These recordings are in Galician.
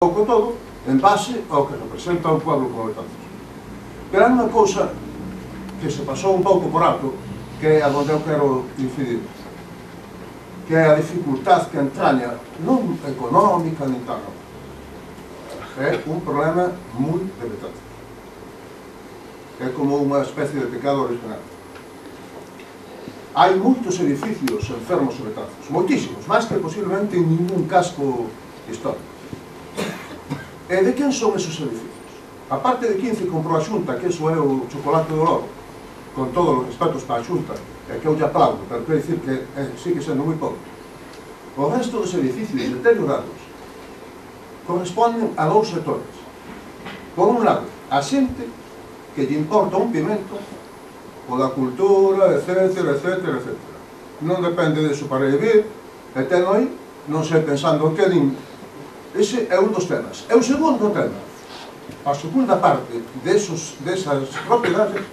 pouco todo en base ao que representa o pueblo como Betanzos. Pero hai unha cousa que se pasou un pouco por alto, que é a onde eu quero incidir, que é a dificultad que entraña non económica nin tal, non. É un problema moi de Betanzos. É como unha especie de pecado original. Hai moitos edificios enfermos en Betanzos, moitísimos, máis que posiblemente en ningún casco histórico. E de quen son esos edificios? A parte de 15 comprou a Xunta, que eso é o chocolate do lobo, con todos os respetos para a Xunta, e que eu lle aplaudo, pero quero dicir que sigue sendo moi pouco. O resto dos edificios deteriorados corresponden a dous sectores. Por un lado, a xente que lle importa un pimento, o da cultura, etcétera, etcétera, etcétera. Non depende deso para vivir, e ten aí, non sei pensando que din. Ese é un dos temas. E o segundo tema, a segunda parte desas propiedades,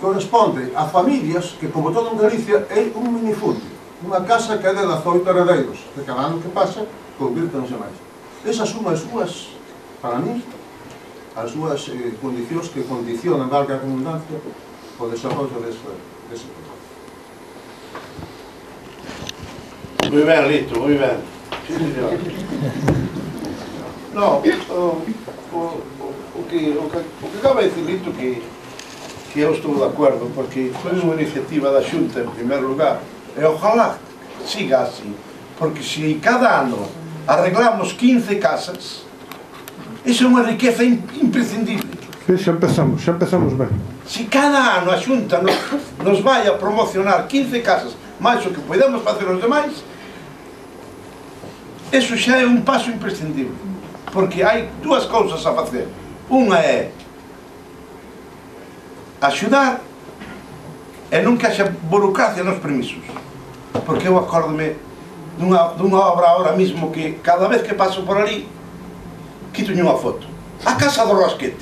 corresponde a familias que, como todo en Galicia, é un minifundio. Unha casa que é de 18 heredeiros, que cada ano que pasa, convírtense máis. Esas son as súas, para mí, as súas condicións que condicionan, valga a redundancia, o desarrollo dese proceso. Moi ben, Lito, moi ben. Sí, señor. No, o que acaba de decir Lito que eu estou de acordo, porque foi unha iniciativa da Xunta, en primeiro lugar, e ojalá siga así, porque se cada ano arreglamos 15 casas, iso é unha riqueza imprescindible. Xa empezamos ben. Se cada ano a Xunta nos vai a promocionar 15 casas máis o que podemos facer os demais, eso xa é un paso imprescindible, porque hai dúas cousas a facer. Unha é axudar e non que haxa burocracia nos permisos, porque eu acórdome dunha obra ahora mismo que cada vez que paso por ali quitolle unha foto. A Casa do Rosquete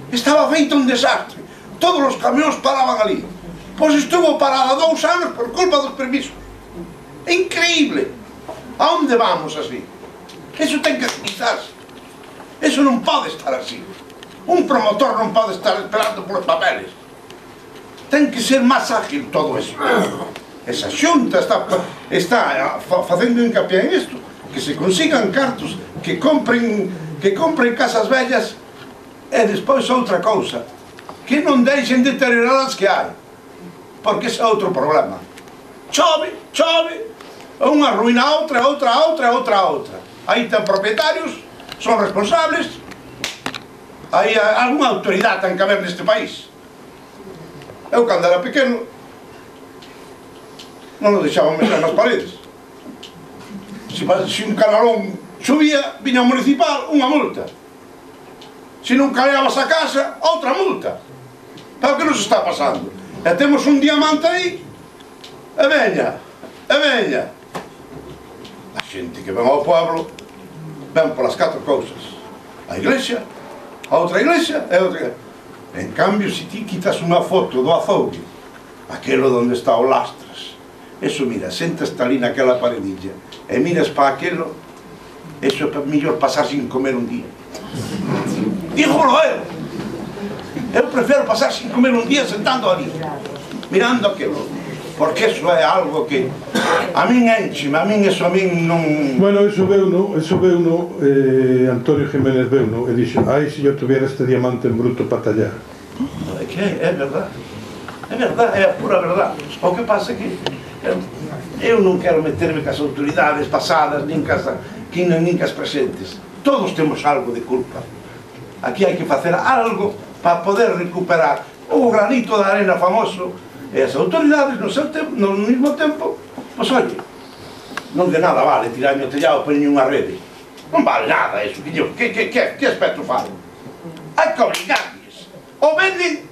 estaba feita un desastre, todos os camións paraban ali, pois estuvo parada 2 anos por culpa dos permisos. É increíble. A onde vamos así? Eso ten que agilizarse. Eso non pode estar así. Un promotor non pode estar esperando polos papeles. Ten que ser máis ágil todo eso. Esa Xunta está facendo hincapié en isto, que se consigan cartos, que compren casas vellas, e despois outra cousa, que non deixen deteriorar as que hai, porque ese é outro problema. Chove, unha ruína a outra. Aí ten propietarios, son responsables, hai algunha autoridade ten que haber neste país. Eu, cando era pequeno, non o deixaban mexer nas paredes. Se un canalón chovía, viña o municipal, unha multa. Se non caíabas a casa, outra multa. Pero que nos está pasando? E temos un diamante aí, e veña. A xente que ven ao pueblo, ven polas 4 cousas. A iglesia, a outra iglesia e outra. En cambio, se ti quitas unha foto do azougue, aquelo onde está o lastras, eso, mira, sentas ali naquela paredilla e miras para aquelo, eso é mellor pasar sin comer un día. Dígolo eu prefiro pasar sin comer un día sentando ali, mirando aquilo, porque eso é algo que a min enchime, a min non... Bueno, eso veuno, Antonio Jiménez veuno, e dixo, ai, se eu tuviera este diamante en bruto para tallar. É que é verdad, é a pura verdad. O que pasa é que eu non quero meterme cas autoridades pasadas, nin cas presentes. Todos temos algo de culpa. Aquí hai que facer algo para poder recuperar o granito de arena famoso, e as autoridades no mesmo tempo, pois oye, non de nada vale tirar o tellado para unha rede, non vale nada eso, que aspecto fai? Hai que obligarles, o venden,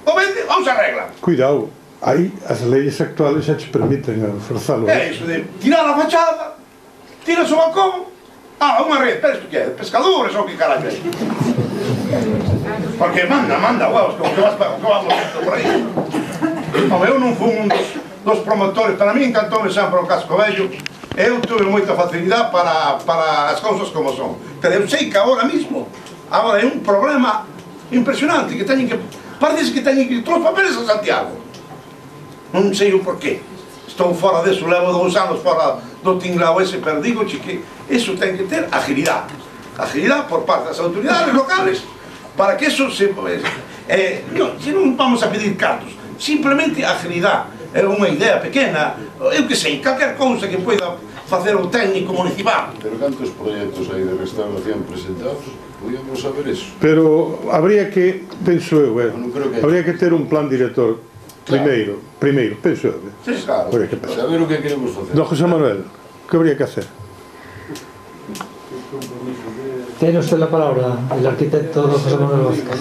ou se arreglan. Cuidado, aí as leyes actuales xa te permiten forzalo. É iso de tirar a fachada, tiras o balcón, unha rede, pero isto que é, pescadores ou que carallo é? Porque manda, huevos, como que vamos por aí. Eu non fui un dos promotores, para mí encantoume sempre o casco vello, eu tuve moita facilidade para as cousas como son, pero eu sei que agora mismo é un problema impresionante, que teñen que parece que teñen que ir todos os papeles a Santiago, non sei o porqué. Estou fora deso, levo 2 anos fora do tinglao ese, pero digo que eso ten que ter agilidade por parte das autoridades locales para que eso se non vamos a pedir cartos, simplemente agilidade. É unha idea pequena, eu que sei, calquer cousa que poida facer o técnico municipal. Pero cantos proxectos hai de restauración presentados? Podíamos saber eso. Pero habría que, penso eu, habría que ter un plan director primeiro, penso eu. Claro, saber o que queremos facer. Don José Manuel, que habría que hacer? Tiene usted la palabra, el arquitecto don José Manuel Vázquez.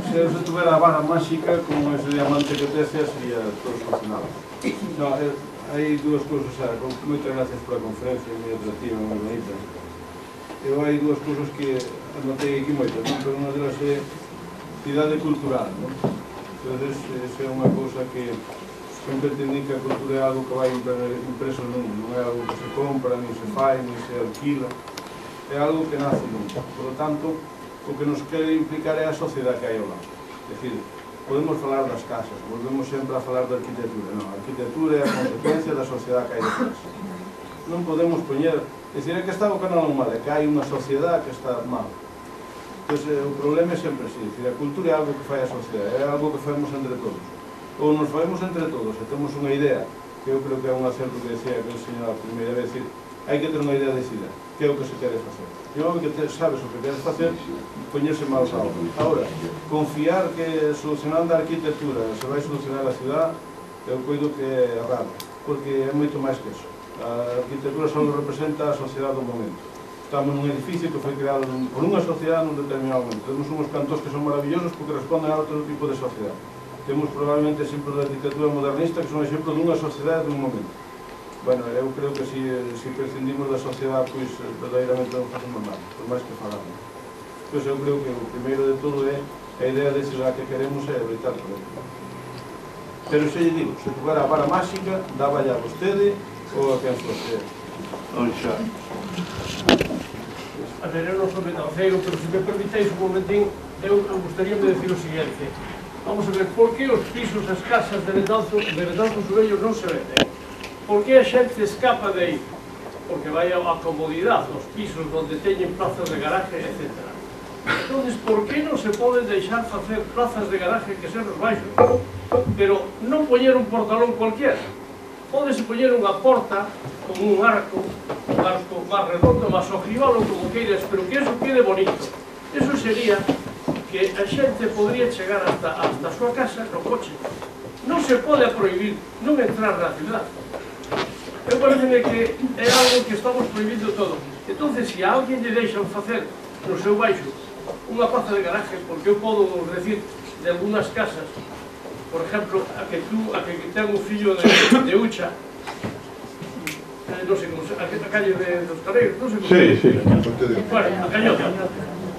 Se eu tuviera a vara máxica con ese diamante que tece sería todo solucionado. No, hai dúas cousas, moitas gracias pola conferencia, moi atractiva, moi bonita. Hai dúas cousas que anotei aquí moitas, pero unha delas é cidade cultural, non? Entón, esa é unha cousa que sempre entendí que a cultura é algo que vai impreso non é algo que se compra, nin se fai, nin se alquila, é algo que nace nunca. Por lo tanto, o que nos quere implicar é a sociedade que hai ao lado. É dicir, podemos falar das casas, volvemos sempre a falar da arquitectura. Non, a arquitectura é a consecuencia da sociedade que hai detrás. Non podemos poñer... É dicir, é que está o canal mal, é que hai unha sociedade que está mal. Entón, o problema é sempre así. É dicir, a cultura é algo que fai a sociedade, é algo que faemos entre todos. Ou nos faemos entre todos, e temos unha idea, que eu creo que é un acerto que decía aquel señor a primeira vez, decir, hai que ter unha idea decidida, que é o que se quere facer. E o que sabes o que queres facer, poñerse malos a obra. Ahora, confiar que solucionando a arquitectura se vai solucionar a cidade, eu coido que é errado, porque é moito máis que eso. A arquitectura só representa a sociedade do momento. Estamos nun edificio que foi creado por unha sociedade nun determinado momento. Temos uns cantós que son maravillosos porque responden a outro tipo de sociedade. Temos probablemente exemplos da arquitectura modernista que son exemplos dunha sociedade dun momento. Bueno, eu creo que se prescindimos da sociedade, pois verdadeiramente non facemos nada, por máis que falamos. Pois eu creo que o primeiro de todo é a idea de cidade que queremos é evitar por aí. Pero se lle digo, se tuvera a vara máxica, daba ya a vostede ou a quen fosse. A ver, eu non sou betanceiro, pero se me permitéis un momentín, eu gostaríame decir o seguinte. Vamos a ver, por que os pisos, as casas de Betanzos Vellos non se venden? Por que a xente escapa de aí? Porque vai a comodidade, os pisos onde teñen plazas de garaje, etc. Entón, por que non se poden deixar facer plazas de garaje que sean os baixos? Pero non poñer un portalón cualquiera. Pódese poñer unha porta con un arco máis redondo, máis ojival ou como queiras, pero que eso quede bonito. Eso sería que a xente podría chegar hasta a súa casa no coche. Non se pode prohibir non entrar na cidade. Eu pareceme que é algo que estamos prohibindo todo. Entón, se a alguén lle deixan facer no seu baixo unha plaza de garaje, porque eu podo decir de algunas casas, por exemplo, a que ten un fillo de Ucha, non sei como se, a calle dos Carreiros, non sei como se. Bueno, a Cañota.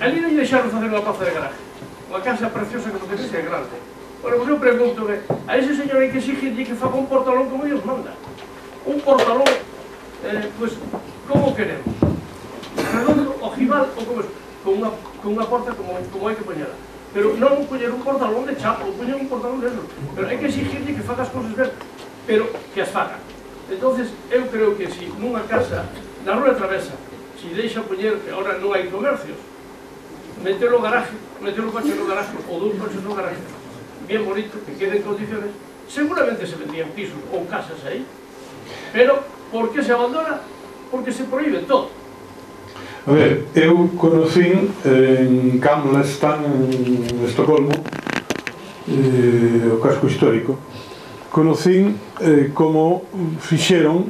Ali non lle deixaron facer unha plaza de garaje. Unha casa preciosa que non ten que ser grande. Bueno, pues eu pregunto, a ese señor hai que exigirlle que faga un portalón como ellos manda. Un portalón, pues, como queremos? Redondo, ojival, ou como es? Con unha porta como hai que poñela. Pero non poñer un portalón de chapa, ou poñer un portalón de eso. Pero hai que exigirlle que faga as cousas ben, pero que as faga. Entonces, eu creo que se nunha casa, na Rúa Travesa, se deixa poñer, que agora non hai comercios, meter o garaje, meter o coche no garaje, ou dous coches no garaje, bien bonito, que quede en condiciones, seguramente se vendían pisos ou casas aí, pero por que se abandona? Porque se prohíbe todo. A ver, eu conocín en Gamla Stan, en Estocolmo, o casco histórico, conocín como fixeron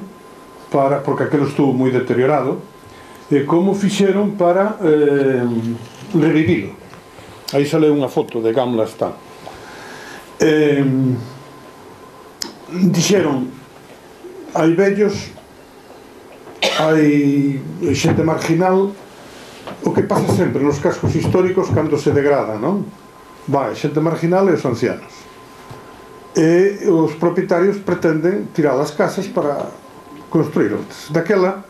para, porque aquilo estuvo moi deteriorado, como fixeron para revivilo. Aí sale unha foto de Gamla Stan. Dixeron, hai vellos, hai xente marginal, o que pasa sempre nos cascos históricos cando se degrada, non? Vai, xente marginal e os ancianos. e os propietarios pretenden tirar as casas para construir outras. Daquela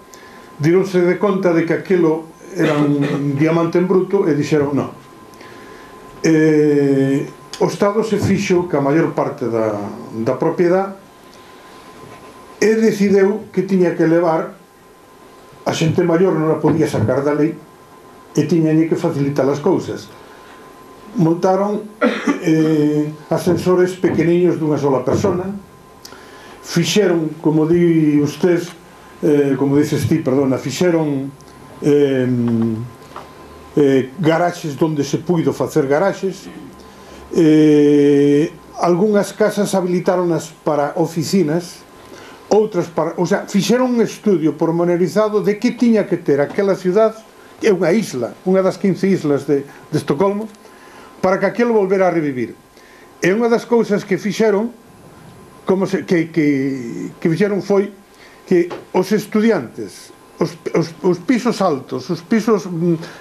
dironse de conta de que aquilo era un diamante en bruto e dixeron non. O Estado se fixo que a maior parte da propiedade e decideu que tiña que levar a xente maior, non a podía sacar da lei e tiñañe que facilitar as cousas. Montaron ascensores pequeniños dunha sola persona, fixeron, como di usted, como dices ti, perdona, fixeron garaxes onde se puido facer garaxes, algunhas casas habilitaronas para oficinas, outras para... O sea, fixeron un estudio pormenorizado de que tiña que ter aquela ciudad, é unha isla, unha das 15 islas de Estocolmo, para que aquilo volvera a revivir. E unha das cousas que fixeron que fixeron foi que os estudiantes, os pisos altos, os pisos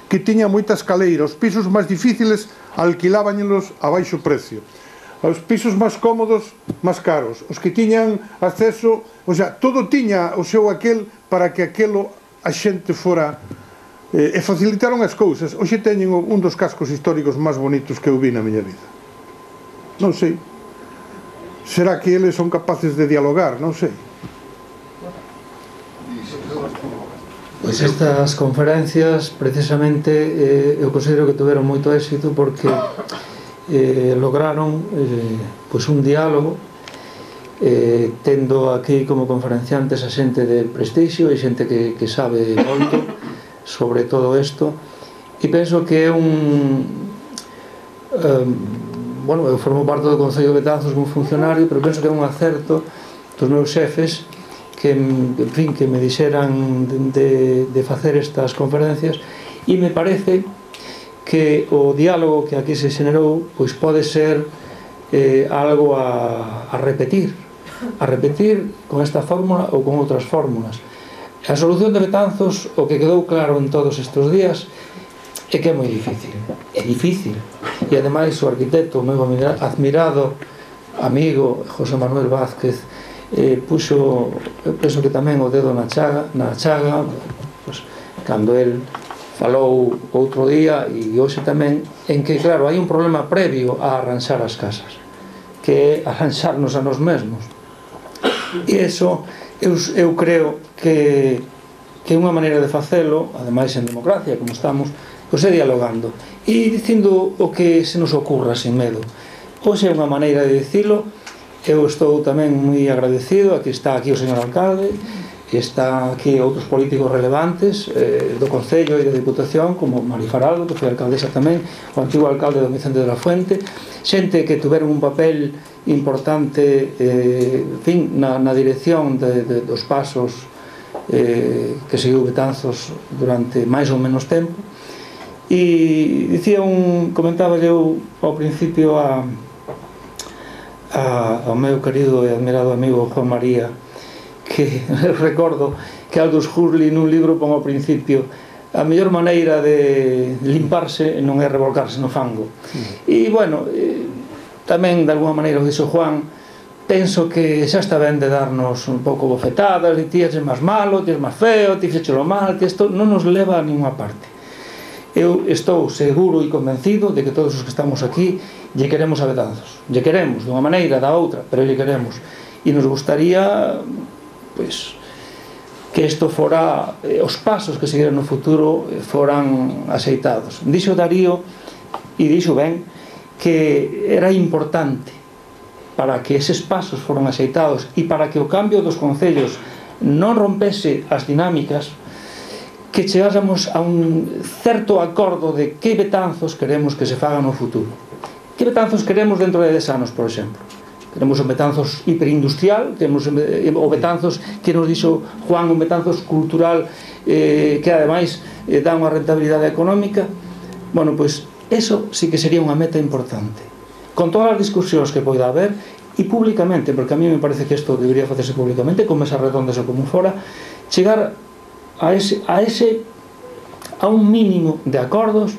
que tiñan moita escaleira, os pisos máis difíciles, alquilábanlos a baixo precio. Os pisos máis cómodos, máis caros. Os que tiñan acceso, o sea, todo tiña o seu aquel para que aquelo a xente fora... e facilitaron as cousas. Hoxe teñen un dos cascos históricos máis bonitos que eu vi na miña vida. Non sei. Será que eles son capaces de dialogar? Non sei. Pois estas conferencias, precisamente, eu considero que tuveron moito éxito porque lograron pois un diálogo, tendo aquí como conferenciantes a xente de prestixio e xente que sabe moito sobre todo isto, e penso que é bueno, eu formo parte do Concello de Betanzos como funcionario, pero penso que é un acerto dos meus xefes que, en fin, que me dixeran de facer estas conferencias, e me parece que o diálogo que aquí se xenerou pois pode ser algo a repetir con esta fórmula ou con outras fórmulas. A solución de Betanzos, o que quedou claro en todos estes días, é que é moi difícil. É difícil. E ademais o arquitecto, o meu admirado amigo José Manuel Vázquez, puxo, eu penso que tamén o dedo na chaga, pues, cando el falou outro día e hoxe tamén, en que, claro, hai un problema previo a arranxar as casas, que é arranxarnos a nos mesmos. E iso eu creo que unha maneira de facelo, ademais en democracia como estamos, pois é dialogando e dicindo o que se nos ocurra sin medo. Hoxe é unha maneira de dicilo. Eu estou tamén moi agradecido, aquí está aquí o señor alcalde, e está aquí outros políticos relevantes do Concello e da Diputación, como Mari Faraldo, que foi alcaldesa tamén, o antigo alcalde don Vicente de la Fuente, xente que tuveron un papel importante en fin, na dirección dos pasos que seguiu Betanzos durante máis ou menos tempo. E comentaba eu ao principio ao meu querido e admirado amigo Juan María, que recordo que Aldous Huxley nun libro pon ao principio: a mellor maneira de limparse non é revolcarse no fango. E bueno, tamén de alguma maneira o dixo Juan, penso que xa está ben de darnos un pouco bofetadas, de ti és máis malo, ti és máis feo, ti fechelo mal, que isto non nos leva a ninguna parte. Eu estou seguro e convencido de que todos os que estamos aquí lle queremos a Betanzos, lle queremos dunha maneira, da outra, pero lle queremos, e nos gustaría pois que isto fora, os pasos que seguiran no futuro foran aceitados. Dixo Darío, e dixo ben, que era importante para que eses pasos foran aceitados e para que o cambio dos concellos non rompese as dinámicas, que chegásemos a un certo acordo de que Betanzos queremos que se faga no futuro. Que Betanzos queremos dentro de 10 anos, por exemplo? Queremos un Betanzos hiperindustrial, temos o Betanzos que nos dixo Juan, un Betanzos cultural que ademais dá unha rentabilidade económica. Bueno, pois eso sí que sería unha meta importante, con todas as discusións que poida haber, e públicamente, porque a mí me parece que isto debería facerse públicamente, con mesas redondas ou como fora, chegar a un mínimo de acordos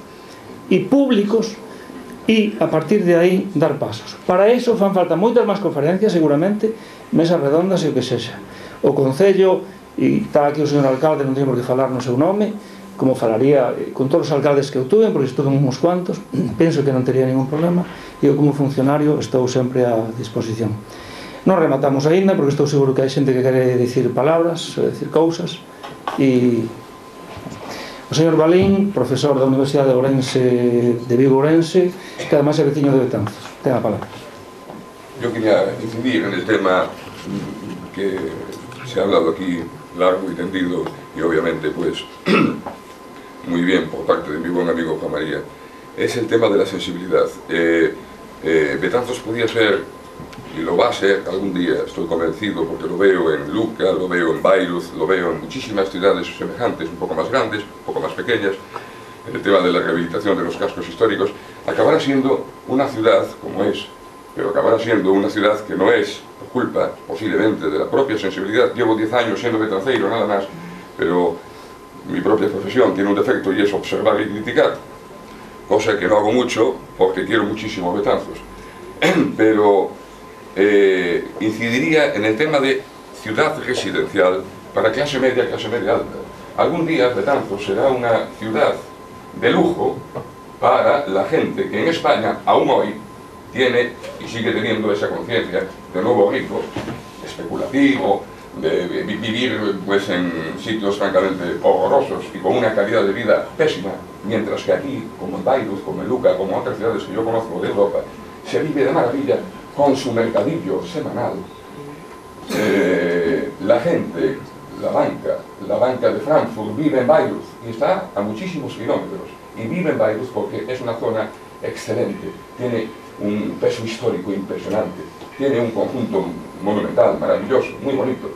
e públicos e a partir de aí dar pasos. Para iso fan falta moitas máis conferencias, seguramente, mesas redondas e o que sexa. O Concello, e está aquí o señor alcalde, non teño por que falar no seu nome, como falaría con todos os alcaldes que eu tuve, porque estuve uns cuantos, penso que non tería ningún problema, e eu como funcionario estou sempre a disposición. Non rematamos aínda, porque estou seguro que hai xente que quere dicir palabras, dicir cousas, e o señor Balín, profesor da Universidade de Vigo Ourense, que además é veciño de Betanzos. Ten a palabra. Yo quería incidir en el tema que se ha hablado aquí largo y tendido y obviamente pues muy bien por parte de mi buen amigo Juan María. Es el tema de la sensibilidad. Betanzos podía ser, y lo va a ser algún día, estoy convencido, porque lo veo en Luca, lo veo en Bayreuth, lo veo en muchísimas ciudades semejantes, un poco más grandes, un poco más pequeñas, en el tema de la rehabilitación de los cascos históricos, acabará siendo una ciudad como es, pero acabará siendo una ciudad que no es por culpa, posiblemente, de la propia sensibilidad. Llevo 10 años siendo betanceiro, nada más, pero mi propia profesión tiene un defecto y es observar y criticar, cosa que no hago mucho porque quiero muchísimo Betanzos. Pero incidiría en el tema de ciudad residencial para clase media alta. Algún día Betanzos será una ciudad de lujo para la gente que en España aún hoy tiene y sigue teniendo esa conciencia de nuevo rico, especulativo, de vivir pues en sitios francamente horrorosos y con una calidad de vida pésima, mientras que aquí, como en Bayreuth, como en Luca, como en otras ciudades que yo conozco de Europa, se vive de maravilla con su mercadillo semanal. La gente, la banca de Frankfurt vive en Bayreuth y está a muchísimos kilómetros, y vive en Bayreuth porque es una zona excelente, tiene un peso histórico impresionante, tiene un conjunto monumental, maravilloso, muy bonito.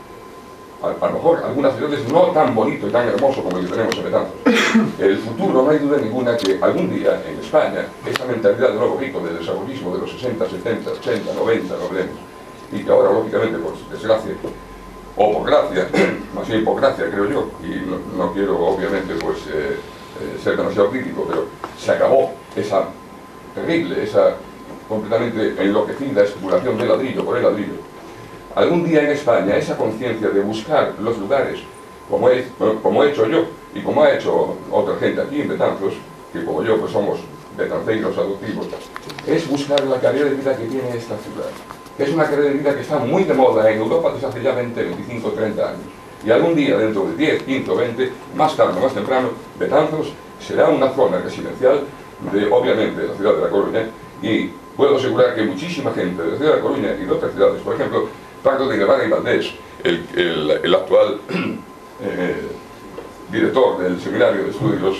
A lo mejor algunas ciudades no tan bonito y tan hermoso como el que tenemos en Betanzos. El futuro, no hay duda ninguna que algún día en España esa mentalidad de nuevo rico, del desarrollismo de los 60, 70, 80, 90, lo veremos, y que ahora lógicamente por desgracia o por gracia, más bien por gracia creo yo, y no quiero obviamente pues ser demasiado crítico, pero se acabó esa terrible, esa completamente enloquecida especulación de ladrillo por el ladrillo. Algún día en España esa conciencia de buscar los lugares, como he hecho yo y como ha hecho otra gente aquí en Betanzos, que como yo pues somos betanceiros adoptivos, es buscar la calidad de vida que tiene esta ciudad. Es una calidad de vida que está muy de moda en Europa desde hace ya 20, 25, 30 años. Y algún día, dentro de 10, 15 o 20, más tarde o más temprano, Betanzos será una zona residencial de, obviamente, la ciudad de La Coruña, y puedo asegurar que muchísima gente de la ciudad de La Coruña y de otras ciudades, por ejemplo, Pardo de Guevara y Valdés, el actual director del Seminario de Estudios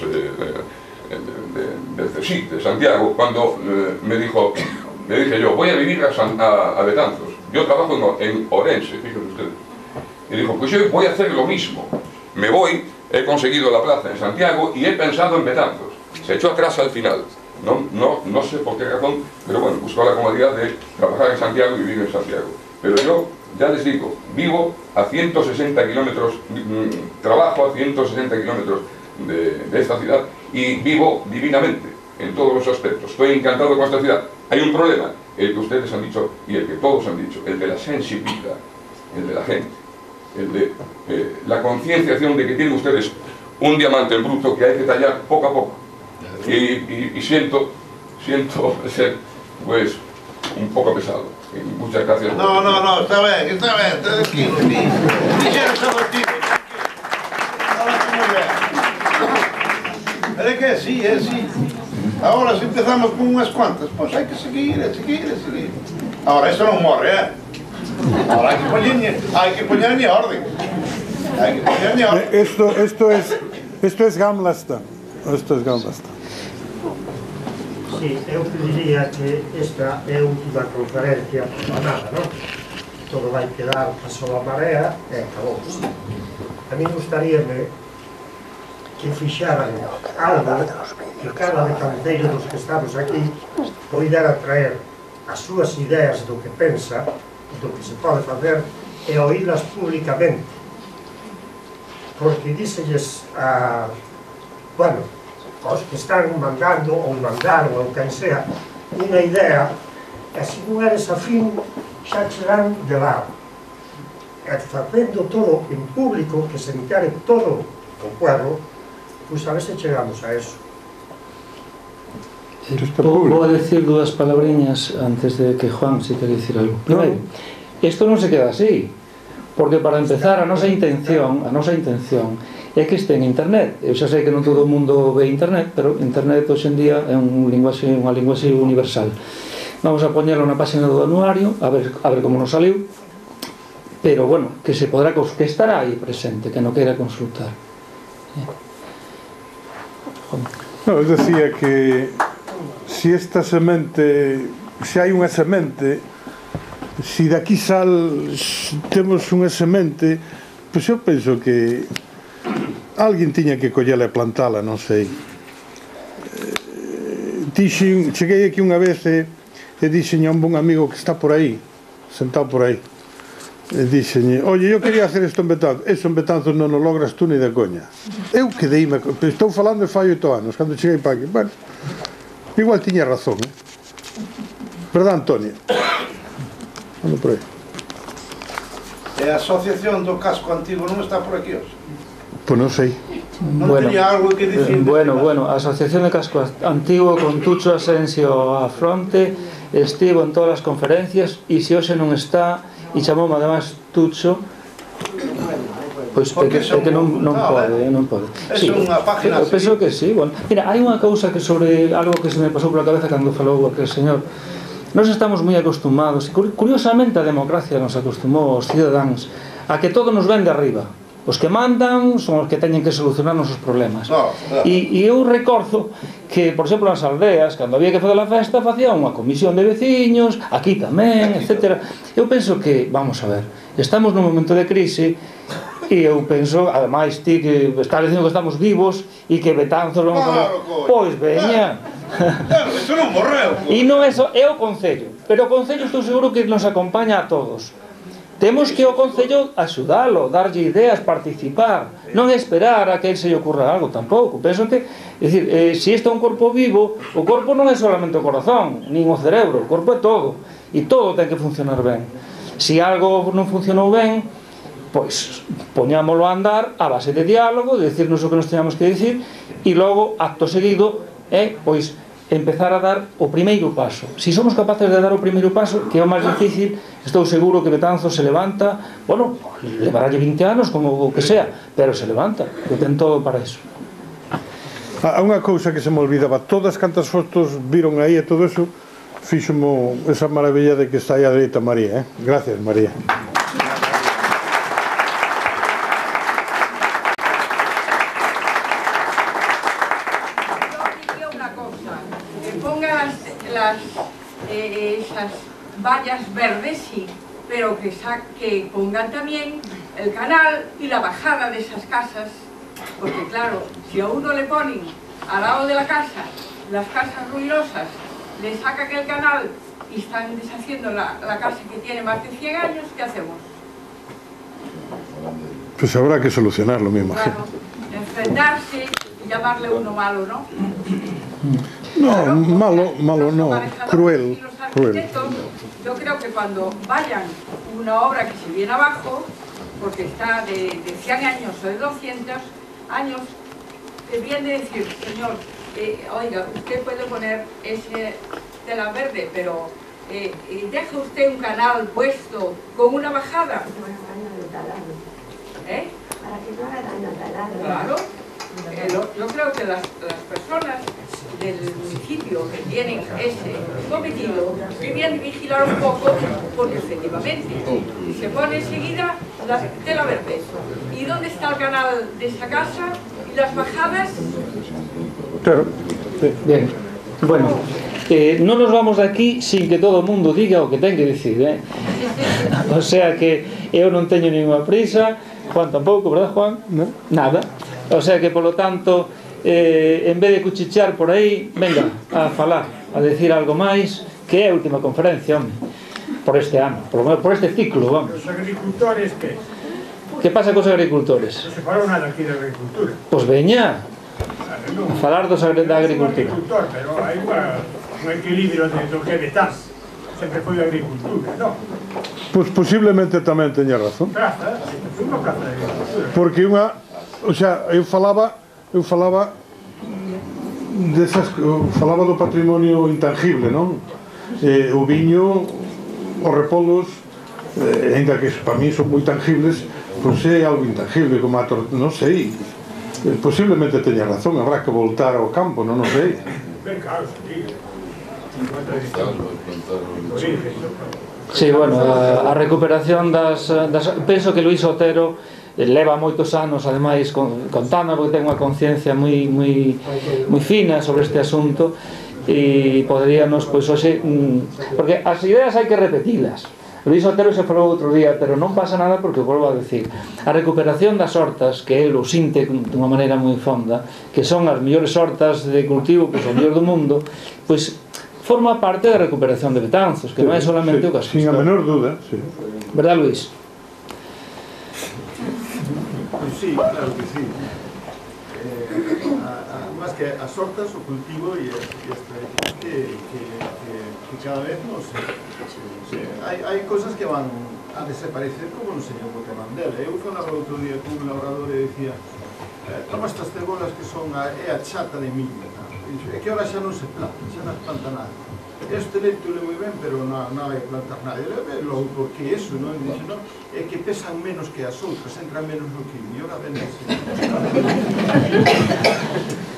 del CSIC de Santiago, cuando me dije yo, voy a vivir a Betanzos, yo trabajo en Orense, fíjense ustedes, y dijo, pues yo voy a hacer lo mismo, me voy, he conseguido la plaza en Santiago y he pensado en Betanzos. Se echó atrás al final, no sé por qué razón, pero bueno, buscó la comodidad de trabajar en Santiago y vivir en Santiago. Pero yo, ya les digo, vivo a 160 kilómetros, trabajo a 160 kilómetros de esta ciudad y vivo divinamente en todos los aspectos. Estoy encantado con esta ciudad. Hay un problema, el que ustedes han dicho y el que todos han dicho, el de la sensibilidad, el de la gente, el de la concienciación de que tienen ustedes un diamante en bruto que hay que tallar poco a poco. Y siento ser, pues, un poco pesado. Y muchas gracias. No, está bien, tranquilo, sí. Dijeron todo el tipo, tranquilo. Es que sí, es sí. Ahora si empezamos con unas cuantas, pues hay que seguir. Ahora esto no morre, ¿eh? Ahora hay que poner en orden. Esto es Gamlastan. Sí, eu diría que esta é a última conferencia para nada, non? Todo vai quedar a sola marea e acabouse. A mí gustaríame que fixaran algo que cada betanceiro dos que estamos aquí poidera traer as súas ideas do que pensa, do que se pode facer e oílas públicamente. Porque díselles a... bueno, os que están mandando ou mandaron ou quen sea, unha idea, e se non eres afín, xa chegarán de lado. E facendo todo en público, que se entere todo o pueblo, pois a ver se chegamos a eso. Vou decir dúas palabriñas antes de que Juan se quere dicir algo. Primeiro, isto non se queda así, porque para empezar a nosa intención é que este en internet. Eu xa sei que non todo o mundo ve internet, pero internet hoxe en día é unha linguaxe universal. Vamos a poñelo na página do anuario, a ver como nos saliu, pero bueno, que se podrá, que estará aí presente, que non queira consultar. No, eu decía que se esta semente, se hai unha semente, se daqui temos unha semente, pois eu penso que alguén tiña que collela e plantala, non sei. Cheguei aquí unha vez e dixen a un bon amigo que está por aí, sentado por aí, e dixen, oye, eu quería hacer isto en Betanzos. Eso en Betanzos non o logras tú ni de coña. Eu quedeime, estou falando de fai 8 anos, cando cheguei para aquí. Bueno, igual tiña razón, verdad, Antonio? Ando por aí. E a asociación do casco antigo non está por aquí hoxe? Pois non sei. Non teña algo que dicir. Bueno, a Asociación de Casco Antigo con Tucho Asensio á fronte estivo en todas as conferencias e se hoxe non está e chamoume además Tucho, pois é que non pode. É unha página así. Penso que sí. Mira, hai unha cousa que sobre algo que se me pasou pola cabeza cando falou aquel señor. Nós estamos moi acostumados, curiosamente a democracia nos acostumou aos cidadáns a que todo nos ven de arriba. Os que mandan son os que teñen que solucionar os nosos problemas. E eu recordo que, por exemplo, nas aldeas, cando había que fazer a festa, facía unha comisión de veciños, aquí tamén, etc. Eu penso que, vamos a ver, estamos nun momento de crise e eu penso, ademais, ti que estás dicindo que estamos vivos e que Betanzos vamos a ver, pois veña. Eso non morreu. E non é só, é o Concello, pero o Concello estou seguro que nos acompaña a todos. Temos que o Concello axudalo, darlle ideas, participar, non esperar a que ele se lle ocurra algo tampouco. Penso que, é dicir, se isto é un corpo vivo, o corpo non é solamente o corazón, nin o cerebro, o corpo é todo, e todo ten que funcionar ben. Se algo non funcionou ben, pois poñámoslo a andar a base de diálogo, de decirnos o que nos teñamos que dicir, e logo, acto seguido, pois empezar a dar o primeiro paso. Se somos capaces de dar o primeiro paso, que é o máis difícil, estou seguro que Betanzos se levanta, bueno, levará 20 anos, como o que sea, pero se levanta, que ten todo para iso. Há unha cousa que se me olvidaba, todas cantas fotos viron aí e todo eso, fíxomo esa maravilla de que está aí a dereita María, Gracias, María. Esas vallas verdes, sí, pero que pongan también el canal y la bajada de esas casas, porque claro, si a uno le ponen al lado de la casa las casas ruinosas, le sacan el canal y están deshaciendo la casa que tiene más de 100 años, ¿qué hacemos? Pues habrá que solucionarlo, me imagino. Claro, enfrentarse y llamarle uno malo, ¿no? No, malo no, cruel. Yo creo que cuando vayan una obra que se viene abajo, porque está de 100 años o de 200 años, viene de decir, señor, oiga, usted puede poner ese tela verde, pero deja usted un canal puesto con una bajada. Para que no haga daño al taladro. Claro. Yo creo que las personas del municipio que tienen ese cometido debían vigilar un poco, porque efectivamente se pone enseguida la tela verde. ¿Y dónde está el canal de esa casa? ¿Y las bajadas? Claro. Bien, bueno, non nos vamos de aquí sin que todo o mundo diga o que ten que dicir, O sea que eu non teño ninguna prisa, Juan tampouco, verdad, Juan? No. Nada. O sea que, polo tanto, en vez de cuchichear por aí, venga a falar, a decir algo máis, que é a última conferencia, home, por este ano, por este ciclo, vamos. Os agricultores, que? Que pasa cos agricultores? Non se falou nada aquí da agricultura. Pois veña, a falar da agricultura. Agricultor, pero hai unha... un equilibrio entre o que é metal. Sempre foi a agricultura, non? Pois posiblemente tamén teña razón. Praza, foi unha praza de agricultura. Porque unha, o sea, eu falaba do patrimonio intangible, non? O viño, os repolos, ainda que para mí son moi tangibles, pois é algo intangible, como a non sei, posiblemente teña razón, habrá que voltar ao campo, non sei. Ben claro, sí. Sí, bueno, a recuperación das penso que Luís Otero leva moitos anos ademais contando, porque ten unha conciencia moi fina sobre este asunto, e poderíanos, pois hoxe, porque as ideas hai que repetilas. Luís Otero se falou outro día, pero non pasa nada, porque volvo a decir, a recuperación das hortas, que el o sinte dunha maneira moi fonda, que son as mellores hortas de cultivo, pois o mellor do mundo, pois forma parte da recuperación de Betanzos, que non é solamente o casco sin a menor duda, sí. Verdad, Luís? Sí, claro que sí. Más que as hortas, o cultivo e esta que cada vez hai cosas que van a desaparecer, como no señor Botemandela. Eu falaba outro día con un labrador e decía, toma estas cebolas que son a chata de millo, é que ahora xa non se planta, xa non planta nada. Este leito le moi ben, pero non vai plantar nada. E logo, por que eso, non? E dice, non, é que pesan menos que as outras, entran menos no quilo, e ahora ven así.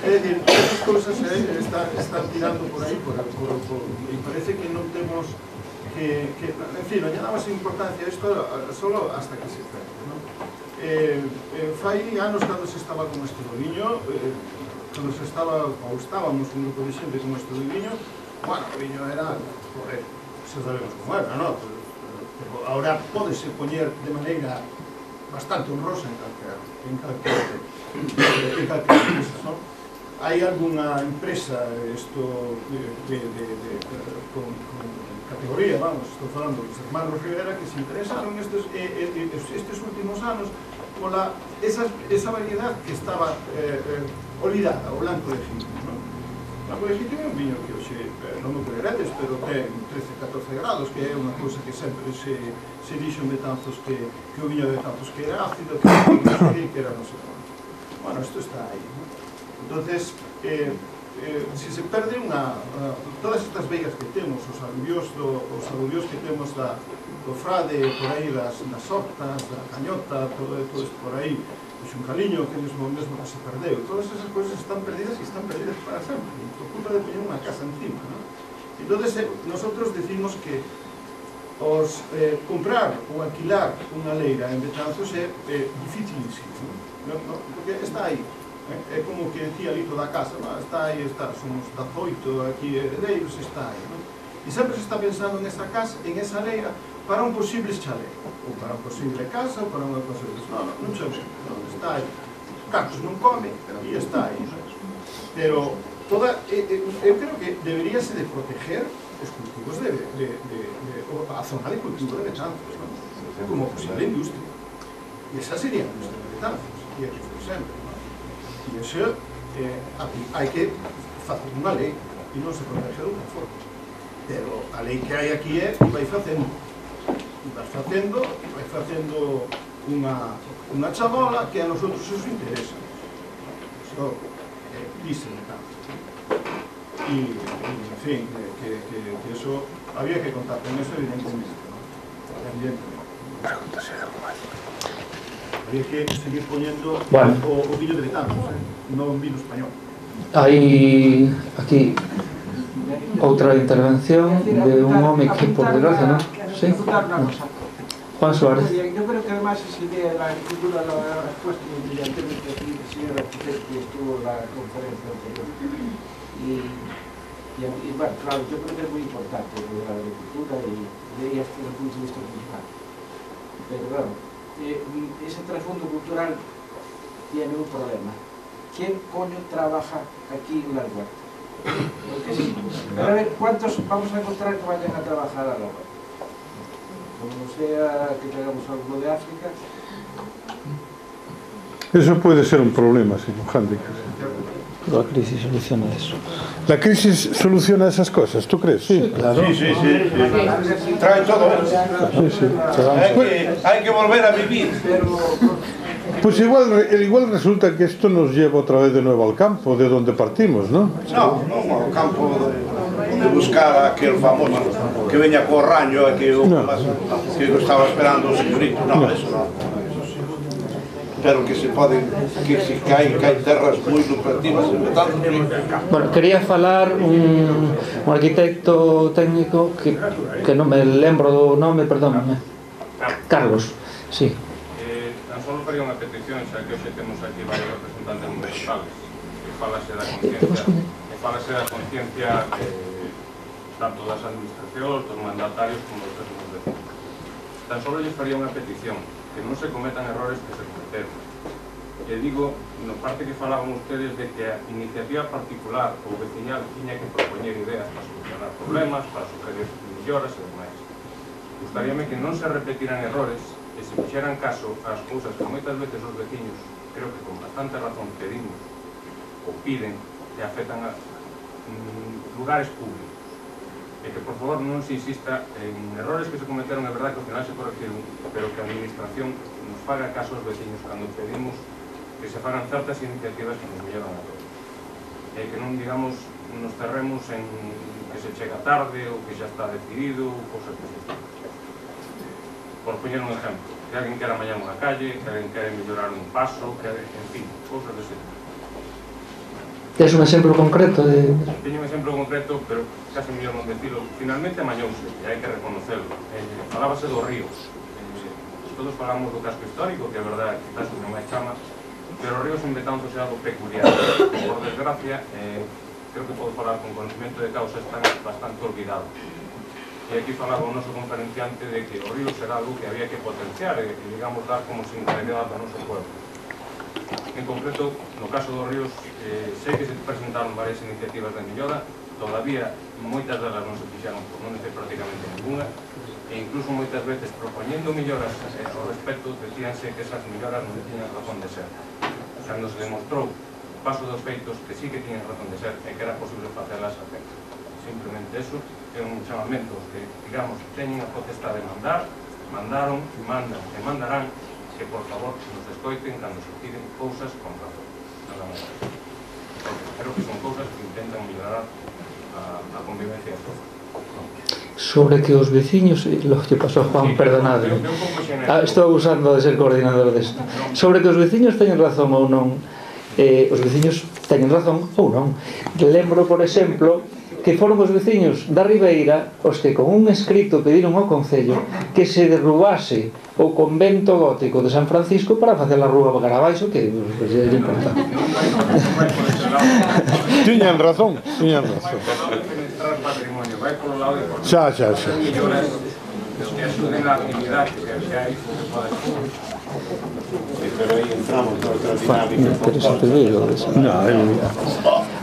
É dicir, esas cousas están tirando por aí, e parece que non temos que en fin, non lle damos importancia a isto solo hasta que se perde, non? Fai anos cando se estaba con isto do viño, cando se estaba, ou estábamos un grupo de xente con isto do viño, bueno, o viño era, joder, xa sabemos como era, non? Pero ahora pódese poñer de maneira bastante honrosa en calquera empresa, non? Hai algunha empresa con categoría, vamos, estou falando dos hermanos Rivera, que se interesaron estes últimos anos pola esa variedade que estaba olvidada, o blanco de Gitmo, non? O blanco de Gitmo é un viño que hoxe non me creeredes, pero ten 13-14 grados, que é unha cousa que sempre se dixo en Betanzos que o viño de Betanzos que era ácido, que era non sei como. Bueno, isto está aí, non? Entonces, se se perde todas estas veigas que temos, os aluvións que temos do Frade, por aí das hortas, da Cañota, todo isto por aí, o Xuncaliño, que mesmo que se perdeu, todas esas cousas están perdidas e están perdidas para sempre, por culpa de poñer unha casa encima, non? Entonces, nosotros decimos que comprar ou alquilar unha leira en Betanzos é dificilísimo, porque está aí. É como que decía ali toda a casa, está aí, somos 18 aquí heredeiros, está aí, non? E sempre se está pensando nesa casa, en esa leira, para un posible chalé, ou para un posible casa, ou para unha posible... Non chalé, está aí. Cartos non come, e está aí. Pero eu creo que deberíase de proteger os cultivos a zona de cultivo de Betanzos, como posible industria. E esa sería a industria de Betanzos, e aquí foi sempre. E iso hai que facer unha lei e non se protege de unha forma, pero a lei que hai aquí vai facendo unha chabola que a nosotros os interesa, iso díseme tanto, e en fin, que iso había que contar con iso evidentemente, pregúntase algo máis. Había que seguir poñendo o viño de Betanzos, non un vino español. Hai aquí outra intervención de un home que, por desgracia, non? Sí? Juan Suárez. Yo creo que además esa idea de la agricultura la ha puesto muy brillantemente aquí el señor arquitecto que estuvo en la conferencia anterior. Y bueno, claro, yo creo que es muy importante la agricultura y desde el punto de vista cultural. Pero claro, ese trasfondo cultural tiene un problema. ¿Quién coño trabaja aquí en la huerta? Porque sí, a ver, ¿cuántos vamos a encontrar que vayan a trabajar a la huerta? Como sea que traigamos algo de África. Eso puede ser un problema, sí, un hándicap. La crisis soluciona eso. La crisis soluciona esas cosas, ¿tú crees? Sí, claro. Sí. Trae todo eso. Sí. Hay que volver a vivir. Pues igual resulta que esto nos lleva otra vez de nuevo al campo, de donde partimos, ¿no? No, al campo de buscar a aquel famoso que veña co raño que estaba esperando o señorito. No, eso no. Pero que se poden, que hai terras moi lucrativas en Betanzos. Bueno, quería falar un arquitecto técnico que non me lembro do nome, perdóname. Carlos, sí. Tan solo faría unha petición, xa que hoxe temos aquí varios representantes municipales, que falase da conciencia tanto das administracións, dos mandatarios como dos vecinos. Tan solo lles faría unha petición, que non se cometan errores que se cometeron. E digo, no parte que falaban ustedes de que a iniciativa particular ou veciñal tiña que propoñer ideas para solucionar problemas, para sugerir melloras e demais. Gustaríame que non se repetiran errores e se fixeran caso ás cousas que moitas veces os veciños, creo que con bastante razón pedimos ou piden, e afectan a lugares públicos. E que, por favor, non se insista en errores que se cometeron, é verdad que ao final se corregiron, pero que a administración nos faga caso aos veciños cando pedimos que se fagan certas iniciativas que nos melloran a todos. E que non, digamos, nos cerremos en que se chega tarde ou que xa está decidido, ou cosas que se están. Por poñer un exemplo, que alguén quera mañar unha calle, que alguén quere mellorar un paso, que, en fin, cosas dese tipo. Tes un exemplo concreto de... Teño un exemplo concreto, pero casi mellor non decirlo. Finalmente amañouse, e hai que reconocerlo. Falábase dos ríos. Todos falamos do casco histórico, que é verdade, quizás non máis chama, pero os ríos en Betanzos é algo peculiar. Por desgracia, creo que podo falar con conocimiento de causa, están bastante olvidados. E aquí falaba o noso conferenciante de que o río será algo que había que potenciar e, digamos, dar como singularidade ao noso pueblo. En concreto, no caso dos ríos, sei que se presentaron varias iniciativas de mellora, todavía moitas delas non se fixaron, por non decir prácticamente ninguna, e incluso moitas veces propoñendo melloras ao respecto, decíanse que esas melloras non tiñan razón de ser. Cando se demostrou, paso dos feitos, que sí que tiñan razón de ser e que era posible facelas a tempo. Simplemente eso é un chamamento que, digamos, teñen a potestade de mandar, mandaron, mandan e mandarán, que por favor nos escoiten cando se piden cousas con razón. Nada máis. Creo que son cousas que intentan mellorar a convivencia de todos. Sobre que os veciños, lo que pasou Juan, perdonade, estou usando de ser coordinador desto, sobre que os veciños teñen razón ou non, os veciños teñen razón ou non. Lembro, por exemplo, que foron os veciños da Ribeira os que con un escrito pediron ao Concello que se derrubase o convento gótico de San Francisco para facer a rúa cara abaixo, que é importante. Tiñan razón. Xa.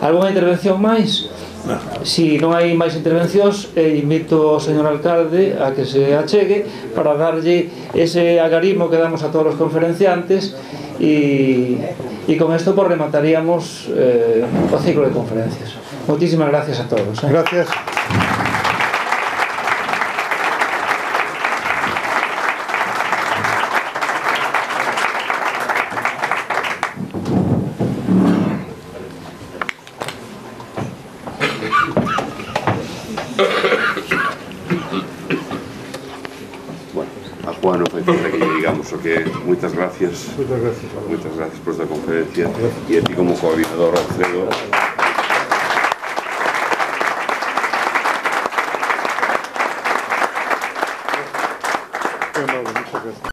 Alguna intervención máis? Si non hai máis intervencións, invito ao señor alcalde a que se achegue para darlle ese agarimo que damos a todos os conferenciantes e con isto pues remataríamos o ciclo de conferencias. Moitísimas gracias a todos. Gracias. Juan, foi falta que digamos o que moitas gracias por esta conferencia e a ti como coordinador Alfredo. Muchas gracias.